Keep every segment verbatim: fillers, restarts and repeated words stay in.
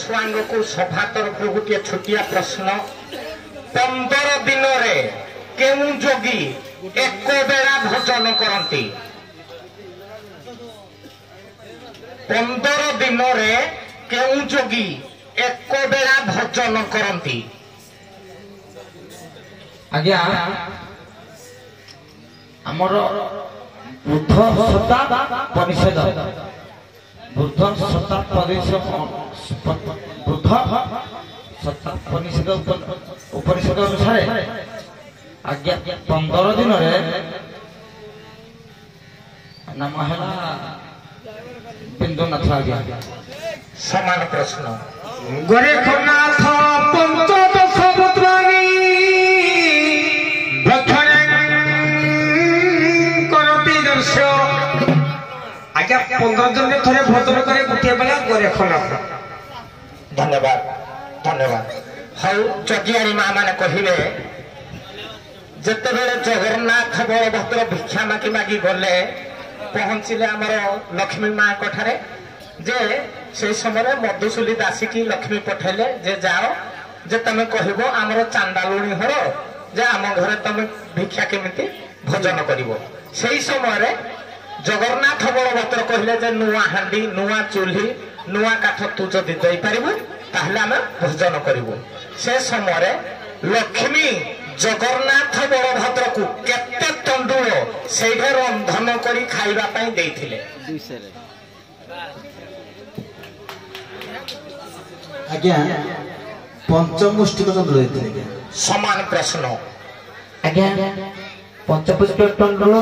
ସ୍ୱାଙ୍ଗକୁ ସଭା ତରଫରୁ ଗୋଟିଏ ଛୋଟିଆ ପ୍ରଶ୍ନ। ପନ୍ଦର ଦିନରେ କେଉଁ ଯୋଗୀ ଏକ ବେଳା ଭୋଜନ କରନ୍ତି? ପନ୍ଦର ଦିନରେ କେଉଁ ଯୋଗୀ ଏକ ବେଳା ଭୋଜନ କରନ୍ତି? ଆଜ୍ଞା, ଆମର ବୃଦ୍ଧ ସତ୍ତା ପରିଷଦ, ବୃଦ୍ଧ ସତ୍ତା ପରିଷଦ, ବୃଦ୍ଧ ସତ୍ତା ପରିଷଦ ଉପନିଷଦ ଅନୁସାରେ ଆଜ୍ଞା ପନ୍ଦର ଦିନରେ ନାମ ହେଲା ବିନ୍ଦୁନାଥ ଆଜ୍ଞା। ସମାନ ପ୍ରଶ୍ନ। ଗୋରେଖନାଥ ପଞ୍ଚଦଶ ପୁତ୍ରାଣୀ କରନ୍ତି ଦର୍ଶ। ଆଜ୍ଞା, ପନ୍ଦର ଦିନରେ ଥରେ ଭୋଜନ କରେ ଗୋଟିଏ ବେଳା ଗୋରେଖନାଥ। ଧନ୍ୟବାଦ, ଧନ୍ୟବାଦ। ହଉ, ଯଜ୍ଞାଣୀ ମା ମାନେ କହିବେ, ଯେତେବେଳେ ଜଗନ୍ନାଥ ବଳଭଦ୍ର ଭିକ୍ଷା ମାଗି ମାଗି ଗଲେ, ପହଞ୍ଚିଲେ ଆମର ଲକ୍ଷ୍ମୀ ମାଙ୍କ ଠାରେ, ଯେ ସେଇ ସମୟରେ ମଧୁସୁଲି ଦାସୀକି ଲକ୍ଷ୍ମୀ ପଠେଇଲେ ଯେ ଯାଅ, ଯେ ତମେ କହିବ ଆମର ଚାଣ୍ଡାଲୁଣି ଘର, ଯେ ଆମ ଘରେ ତମେ ଭିକ୍ଷା କେମିତି ଭୋଜନ କରିବ। ସେଇ ସମୟରେ ଜଗନ୍ନାଥ ବଳଭଦ୍ର କହିଲେ ଯେ ନୂଆ ହାଣ୍ଡି, ନୂଆ ଚୁଲି, ନୂଆ କାଠ ତୁ ଯଦି ଦେଇପାରିବୁ ତାହେଲେ ଆମେ ଭୋଜନ କରିବୁ। ସେ ସମୟରେ ଲକ୍ଷ୍ମୀ ଜଗନ୍ନାଥ ବଳଭଦ୍ରକୁ କେତେ ତଣ୍ଡୁଳ ସେଇଠି ରନ୍ଧନ କରି ଖାଇବା ପାଇଁ ଦେଇଥିଲେ? ଆଜ୍ଞା, ପଞ୍ଚମୁଷ୍ଟିକ ତଣ୍ଡୁଳ ଦେଇଥିଲେ ଆଜ୍ଞା। ସମାନ ପ୍ରଶ୍ନ। ଆଜ୍ଞା, ପଞ୍ଚପୁଷ୍ପ ତଣ୍ଡୁଳ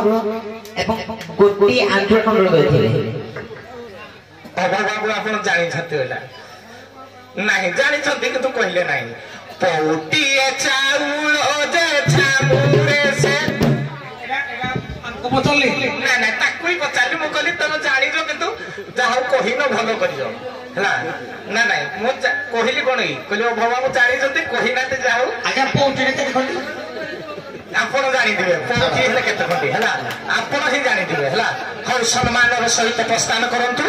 ଏବଂ ଗୋଟିଏ ଆଞ୍ଜୁଳ ତଣ୍ଡୁଳ ଦେଇଥିଲେ। ଅଭୟ ବାବୁ, ଆପଣ ଜାଣିଛନ୍ତି ଏଇଟା ନାହିଁ? ଜାଣିଛନ୍ତି କିନ୍ତୁ କହିଲେ ନାହିଁ। ପଉଟିଏ ଚାଉଳ ଯେ ଛାମୁରେ ସେ ପଚାରିଲି। ନାଇଁ ନାଇଁ, ତାକୁ ହିଁ ପଚାରିଲି। ମୁଁ କହିଲି ତମେ ଜାଣିଛ କିନ୍ତୁ ଯାହା ହଉ କହିନ, ଭଲ କରିଛ। ହେଲା ନା ନାଇଁ? ମୁଁ କହିଲି କଣ କି, କହିଲି ଅଭୟ ବାବୁ ଜାଣିଛନ୍ତି, କହିନାହାନ୍ତି, ଯାହା ହଉ। ଆଜ୍ଞା, ପଉଟିରେ କେତେ ଖଣ୍ଡି? ଆପଣ ଜାଣିଥିବେ ପଉଟି ହେଲେ କେତେ ଖଣ୍ଡି ହେଲା, ଆପଣ ହିଁ ଜାଣିଥିବେ। ହେଲା, ହଉ, ସମ୍ମାନର ସହିତ ପ୍ରସ୍ଥାନ କରନ୍ତୁ।